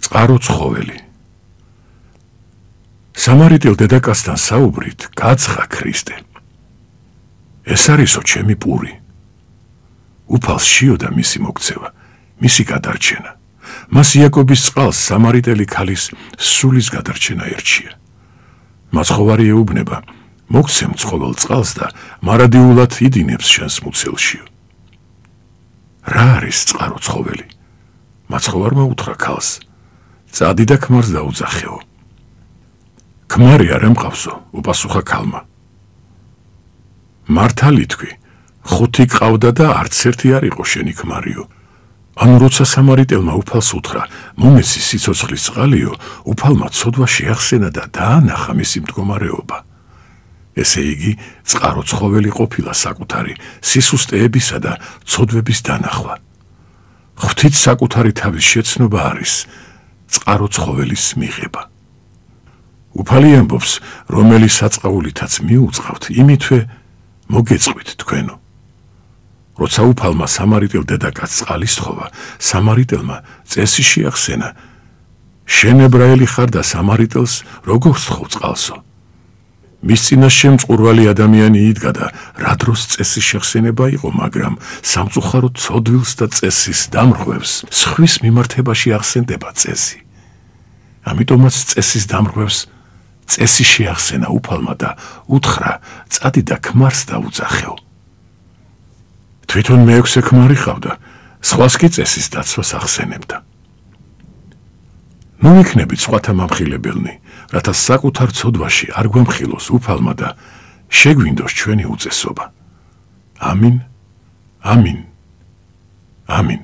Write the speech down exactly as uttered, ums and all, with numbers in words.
წყარო ცხოველი. სამარიტელ დედაკაცთან საუბრით გაცხა ქრისტე. ეს არისო ჩემი პური. უფალს შიოდა მისი მოქცევა, მისი გადარჩენა. მას იაკობის წყალს სამარიტელი ქალის სულის გადარჩენა ერჩია. მაცხოვარი ეუბნება, მოგცემ ცხოველ წყალს და მარადიულად იდინებს შენს მუცელშიო. რა არის წყარო ცხოველი? მაცხოვარმა უთხრა ქალს, წადი და ქმარს დაუძახეო. ქმარი არ ემყავსო, უპასუხა ქალმა. მართალი თქვი, ხუთი ყავდა და არც ერთი არ იყო შენი ქმარიო. ანუ როცა სამარიტელმა უფალს უთხრა, მომეცი სიცოცხლის წყალიო, უფალმა ცოდვა შეახსენა და დაანახა მისი მდგომარეობა. ესე იგი, წყარო ცხოველი ყოფილა საკუთარი სისუსტეებისა და ცოდვების დანახვა. ღვთით საკუთარი თავის შეცნობა არის წყარო ცხოველის მიღება. უფალი ამბობს, რომელი საწყაულითაც მიუწყავთ, იმითვე მოგეწყვით თქვენო. როცა უფალმა სამარიტელ დედაკაცს წყალი სთხოვა, სამარიტელმა წესი შეახსენა, შენ ებრაელი ხარ და სამარიტელს როგორ სთხოვ წყალსო? მის წინაშე მწყურვალი ადამიანი იდგა და რა დროს წესის შეხსენება იყო, მაგრამ სამწუხაროდ ცოდვილს და წესის დამრღვევს სხვის მიმართებაში ახსენდება წესი. ამიტომაც წესის დამრღვევს წესი შეახსენა უფალმა და უთხრა, წადი და ქმარს დაუძახეო. თვითონ მეექვსე ქმარი ყავდა, სხვას კი წესის დაცვას ახსენებდა. ნუ იქნებით სხვათა მამხილებელნი, რათა საკუთარ ცოდვაში არ გვამხილოს უფალმა და შეგვინდოს ჩვენი უწესობა. ამინ, ამინ, ამინ.